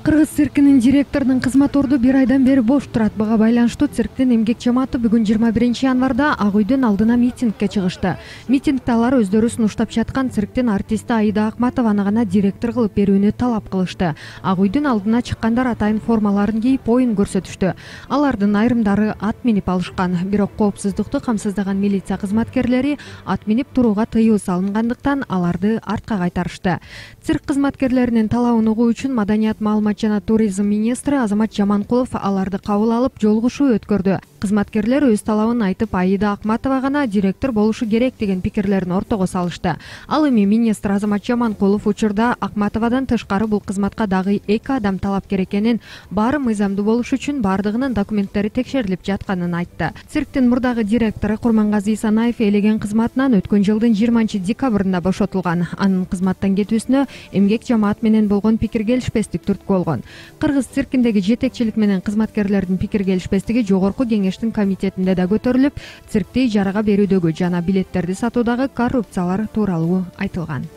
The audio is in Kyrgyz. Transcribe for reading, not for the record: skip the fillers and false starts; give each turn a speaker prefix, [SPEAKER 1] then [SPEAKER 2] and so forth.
[SPEAKER 1] Кыргыз циркинин директорунун кызмат орду 1 айдан бери бош турат. Буга байланыштуу цирктин эмгек жамааты бүгүн 21 январда Ак үйдүн алдына митингге чыгышты. Митингде алар өздөрү сунуштап жаткан цирктин артисти Аида Акматованы гана директор кылып берүүнү талап кылышты. Ак үйдүн алдына чыккандар атайын формаларын кийип оюн көрсөтүштү. Алардын айрымдары ат минип алышкан. Бирок коопсуздукту камсыздаган милиция кызматкерлери ат минип турууга тыюу салынгандыктан аларды артка кайтарышты. Цирк кызматкерлеринин талабын угуу үчүн Маданият, маалымат жана туризм министри Азамат Жаманкулов аларды кабыл алып жолугушуу өткөрдү. Кызматкерлер өз талабын айтып, Аида Акматова гана директор болушу керек деген пикирлерин ортого салышты. Ал эми министр Азамат Жаманкулов учурда Акматовадан тышкары бул кызматка дагы 2 адам талапкер экенин, баары мыйзамдуу болуш үчүн баардыгынын документтери текшерилип жатканын айтты. Цирктин мурдагы директору Курмангазы Исанаев ээлеген кызматынан өткөн жылдын 20-декабрында бошотулган. Анын кызматтан кетүүсүнө эмгек жамаат менен болгон пикир келишпестик түрткү болгон. Кыргыз циркиндеги жетекчилик менен кызматкерлердин пикир келишпестиги жогорку кеңештин комитетинде да көтөрүлүп, циркти ижарага берүүдөгү жана билеттерди сатуудагы коррупциялар тууралуу айтылган.